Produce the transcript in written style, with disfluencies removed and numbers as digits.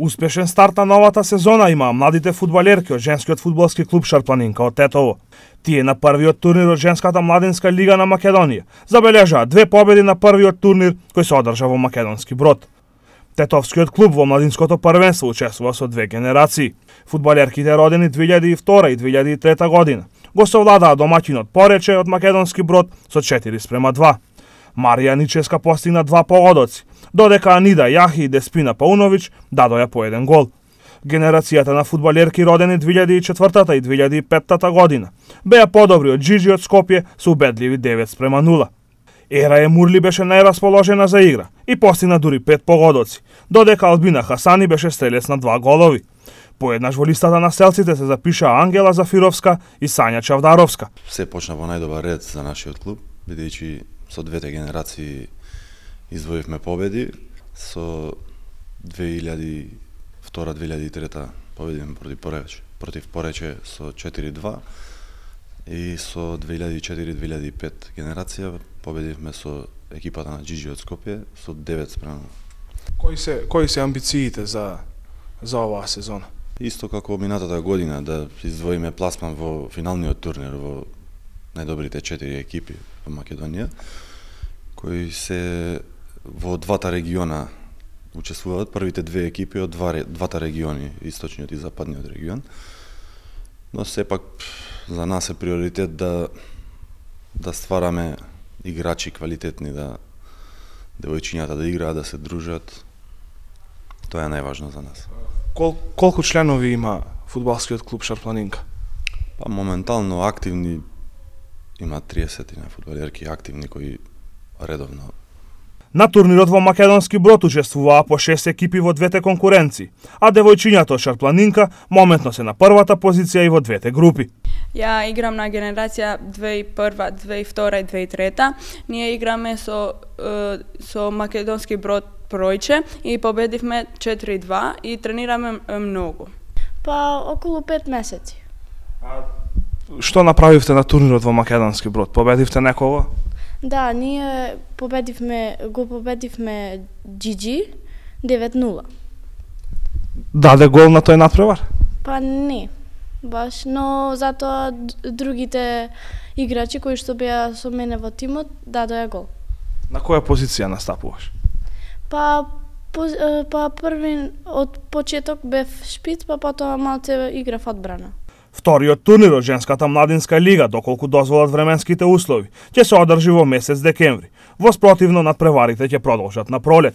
Успешен старт на новата сезона имаа младите фудбалерки од женскиот фудбалски клуб Шарпланинка од Тетово. Тие на првиот турнир од женската младинска лига на Македонија забележаа 2 победи на првиот турнир кој се одржа во Македонски Брод. Тетовскиот клуб во младинското првенство учествува со 2 генерации. Фудбалерките родени 2002 и 2003 година го совладаа домаќинот Порече од Македонски Брод со 4:2. Марија Ническа постигна 2 погодоци, додека Анида Јахи и Деспина Пауновиќ дадоа по 1 гол. Генерацијата на фудбалерки родени 2004 и 2005 година беа подобри од Джиджи од Скопје со убедливи 9:0. Ера Мурли беше најрасположена за игра и постигна дури 5 погодоци, додека Албина Хасани беше стрелец на 2 голови. Поеднаш во листата на стрелците се запишаа Ангела Зафировска и Сања Чавдаровска. Се почна во најдобар ред за нашиот клуб, бидејќи со 2 генерации извоивме победи. Со 2002-2003 победивме против Порече со 4:2 и со 2004-2005 генерација победивме со екипата на Джиджи од Скопје со 9:0. Кои се амбициите за оваа сезона? Исто како минатата година да издвоиме пласман во финалниот турнир во најдобрите 4 екипи во Македонија, кои се во двата региона учествуваат, првите 2 екипи од двата региони, источниот и западниот регион. Но сепак за нас е приоритет да ствараме играчи квалитетни, да девојчињата да играат, да се дружат. Тоа е најважно за нас. Колку членови има фудбалскиот клуб Шарпланинка? Па моментално активни има 30 на фудбалерки активни кои редовно. На турнирот во Македонски Брод учествуваа по 6 екипи во 2 конкуренции, а девојчињата од Шарпланинка моментно се на првата позиција и во 2 групи. Ја играм на генерација 2001, 2002 и 2003. Ние играме со Македонски Брод Пројче и победивме 4:2 и тренираме многу. Па околу 5 месеци. Што направивте на турнирот во Македонски Брод? Победивте некого? Да, ние го победивме Джиджи 9:0. Даде гол на тој натпревар? Па не, баш, но затоа другите играчи кои што беа со мене во тимот дадоа гол. На која позиција настапуваш? Па први од почеток бев шпиц, па потоа малце играв одбрана. Вториот турнир од женската младинска лига, доколку дозволат временските услови, ќе се одржи во месец декември. Во спротивно надпреварите ќе продолжат на пролет.